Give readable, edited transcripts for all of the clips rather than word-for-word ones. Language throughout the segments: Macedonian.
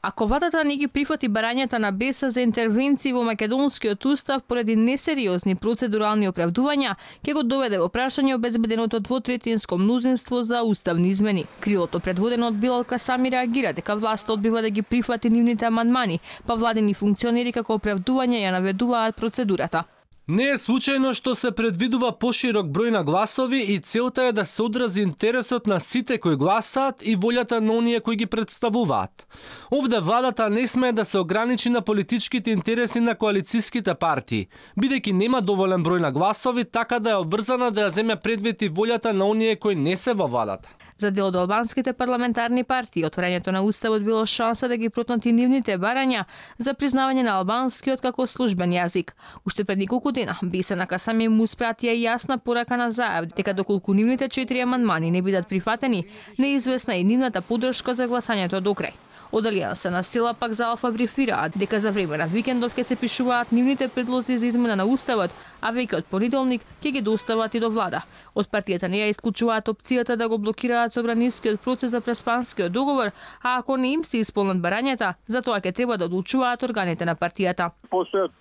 Ако владата не ги прифати барањата на БЕС за интервенции во македонскиот устав поради несериозни процедурални оправдувања, ќе го доведе во прашање обезбеденото двотретинско мнозинство за уставни измени. Крилото предводено од Билал Касами реагира дека власта одбива да ги прифати нивните амандмани, па владени функционери како оправдување ја наведуваат процедурата. Не е случајно што се предвидува поширок број на гласови и целта е да се одрази интересот на сите кои гласаат и волјата на оние кои ги представуваат. Овде владата не смее да се ограничи на политичките интереси на коалицијските партии, бидејќи нема доволен број на гласови, така да е обврзана да ја земе предвид и волјата на оние кои не се во владата. За дел од албанските парламентарни партии, отворањето на уставот било шанса да ги протнати нивните барања за признавање на албанскиот како службен јазик. Уште пред неколку дена БЕС на Касами му спратија јасна порака на Заев дека доколку нивните 4 амандмани не бидат прифатени, неизвестна и нивната поддршка за гласањето до крај. Од Алијанса на сила пак за Алфа брифираат дека за време на викендов ќе се пишуваат нивните предлози за измена на уставот, а веќе од понеделник ќе ги достават и до влада. Од партијата не ја исклучуваат опцијата да го блокираат собранискиот процес за преспанскиот договор, а ако не им се исполнат барањата, за тоа ќе треба да одлучуваат органите на партијата. Постојат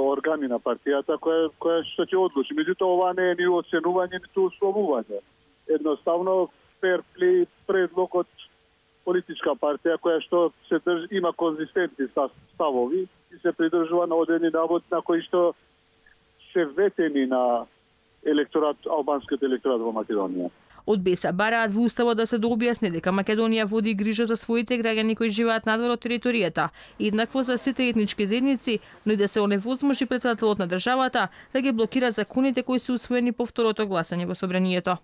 органи на партијата која што ќе одлучи. Меѓутоа ова не е ни оценување, ниту условување. Едноставно ферпли предлог од политичка партија која што се има конзистентни ставови и се придржува на одредени навод на кои што се ветени на албанскиот електорат во Македонија. Од БЕС бараат во уставот да се дообјасни дека Македонија води грижа за своите граѓани кои живеат надвор од територијата, еднакво за сите етнички заедници, но и да се оневозможи претседателот на државата да ги блокира законите кои се усвоени по второто гласање во собранието.